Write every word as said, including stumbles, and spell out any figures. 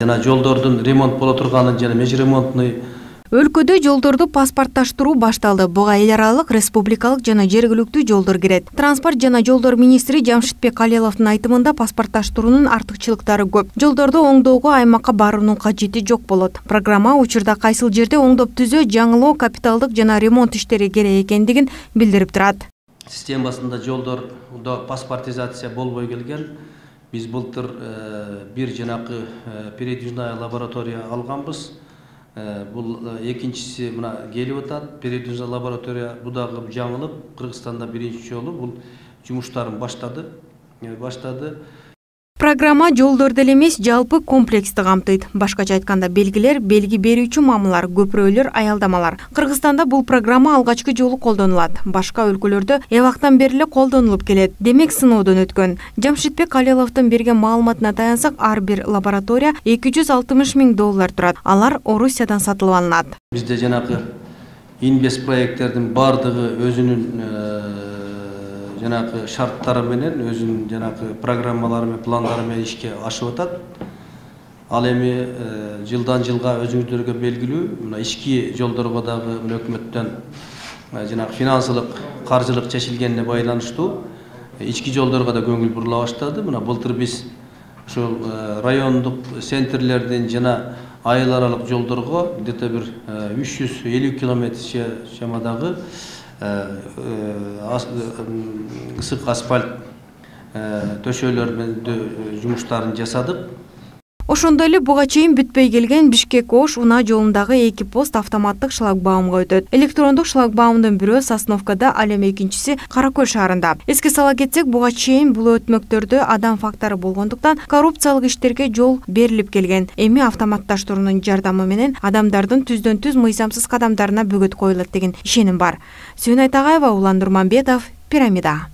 Жана жолдордун ремонт боло турганын жана межремонтный. Өлкөдө жолдорду паспортташтыруу башталды. Буга эл аралык, республикалык жана жергиликтүү жолдор кирет. Транспорт жана жолдор министри Жамшитбек Калеловдун айтымында паспортташтыруунун артыкчылыктары көп. Жолдорду оңдоого аймакка баруунун кажети жок болот. Программа учурда кайсыл жерде оңдоп түзөө, жаңылоо, капиталдык жана ремонт иштери керек экендигин билдирип турат. Системасында жолдордо паспортизация болбой келген. Биз былтыр бир жанакы передвижная лаборатория алганбыз. Бул экинчиси мына келип атат. Передвижная лаборатория бу дагы жаңылып, Кыргызстанда биринчи жолу бул жумуштарын баштады. Баштады. Программа жолдорду эле эмес, жалпы комплексти камтыйт. Башкача айтканда, белгилер, белги берүүчү мамылар, көпүрөлөр, аялдамалар. Кыргызстанда бул программа алгачкы жолу колдонулат. Башка өлкөлөрдө эбактан бери эле колдонулуп келет. Демек, сыноодон өткөн. Жамшитбек Калеловдун берген маалыматына таянсак, ар бир лаборатория эки жүз алтымыш миң доллар турат. Алар Орусиядан сатылып алынат. Бизде жанакы инвест проекттердин бардыгы өзүнүн жанакы шарттары менен, өзүнүн жанакы программалары менен, пландары менен ишке ашып атат. Ал эми жылдан жылга өзүңүздөргө белгилүү, мына ички жолдорго дагы өкмөттөн жанакы финансылык, каржылык чечилгенине байланыштуу ички жолдорго да көңүл бурула баштады. Мына былтыр биз ошол райондук центрлердин жана айыл аралык жолдорго где-то бир үч жүз элүү километр чамадагы ысык асфальт төшөөлөр менен жумуштарын жасадык. Ошондой эле буга чейин бүтпөй келген Бишкек-Ош Унаа жолундагы эки пост автоматтык шлагбаумга өтөт. Электрондук шлагбаумдун бирөө Сосновкада, ал эми экинчиси Кара-Көл шаарында. Эске сала кетсек, буга чейин бул өтмөктөрдө адам фактору болгондуктан коррупциялык иштерге жол берилип келген. Эми автоматташтыруунун жардамы менен адамдардын түздөн түз мыйзамсыз кадамдарына бөгөт коюлат деген ишеним бар. Сүйүн Айтагаева, Улан Нурманбетов, Пирамида.